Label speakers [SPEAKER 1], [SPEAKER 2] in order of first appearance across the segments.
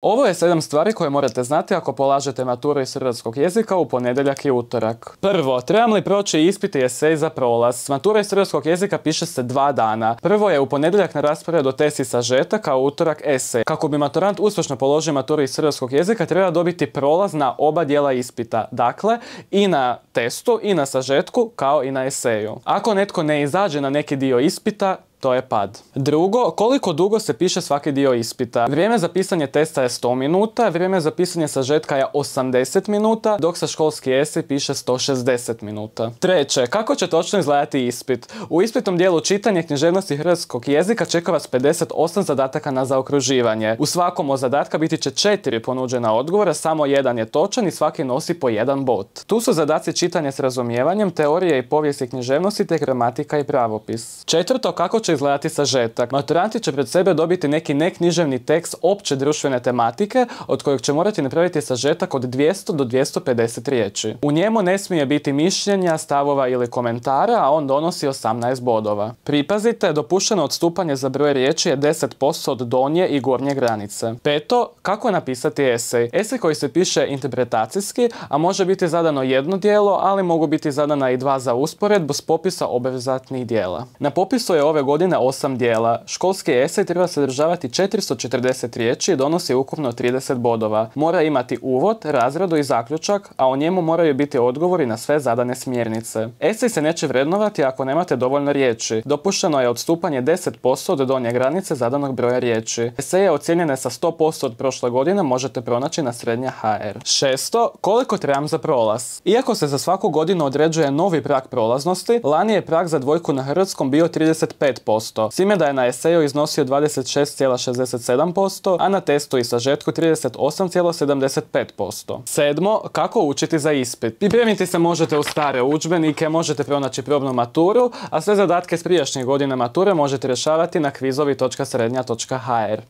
[SPEAKER 1] Ovo je 7 stvari koje morate znati ako polažete maturu iz hrvatskog jezika u ponedjeljak i utorak. Prvo, trebam li proći ispit i esej za prolaz? Matura iz hrvatskog jezika piše se 2 dana. Prvo je u ponedjeljak na rasporedu test i sažetak, a u utorak esej. Kako bi maturant uspješno položio maturu iz hrvatskog jezika, treba dobiti prolaz na oba dijela ispita. Dakle, i na testu i na sažetku, kao i na eseju. Ako netko ne izađe na neki dio ispita, to je pad. Drugo, koliko dugo se piše svaki dio ispita? Vrijeme za pisanje testa je 100 minuta, vrijeme za pisanje sažetka je 80 minuta, dok se školski esej piše 160 minuta. Treće, kako će točno izgledati ispit? U ispitnom dijelu čitanje književnosti hrvatskog jezika čeka vas 58 zadataka na zaokruživanje. U svakom od zadatka biti će 4 ponuđena odgovora, samo jedan je točan i svaki nosi po 1 bod. Tu su zadaci čitanje s razumijevanjem, teorije i povijesti književnosti te gramatika i pravopis. Četvrto, kako će izgledati sažetak? Maturanti će pred sebe dobiti neki neknjiževni tekst opće društvene tematike, od kojeg će morati napraviti sažetak od 200 do 250 riječi. U njemu ne smije biti mišljenja, stavova ili komentara, a on donosi 18 bodova. Pripazite, dopušteno odstupanje za broj riječi je 10% od donje i gornje granice. Peto, kako napisati esej? Esej koji se piše interpretacijski, a može biti zadano jedno dijelo, ali mogu biti zadana i 2 za usporedbu s popisa obvezatnih dijela. Na popisu je ove godine 8 dijela. Školski esej treba sadržavati 440 riječi i donosi ukupno 30 bodova. Mora imati uvod, razradu i zaključak, a o njemu moraju biti odgovori na sve zadane smjernice. Esej se neće vrednovati ako nemate dovoljno riječi. Dopušteno je odstupanje 10% od donje granice zadanog broja riječi. Eseje ocijenjene sa 100% od prošle godine možete pronaći na Srednja.hr. Šesto, koliko trebam za prolaz? Iako se za svaku godinu određuje novi prag prolaznosti, lani je prag za dvojku na hrvatskom bio 35%. S time da je na eseju iznosio 26,67%, a na testu i sažetku 38,75%. Sedmo, kako učiti za ispit? Pripremiti se možete u stare udžbenike, možete pronaći probnu maturu, a sve zadatke s prijašnjih godina mature možete rješavati na kvizovi.srednja.hr.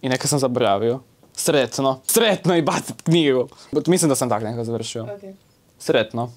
[SPEAKER 1] I neka sam zaboravio. Sretno i bacit knjigu. Mislim da sam tako nekako završio. Okay. Sretno.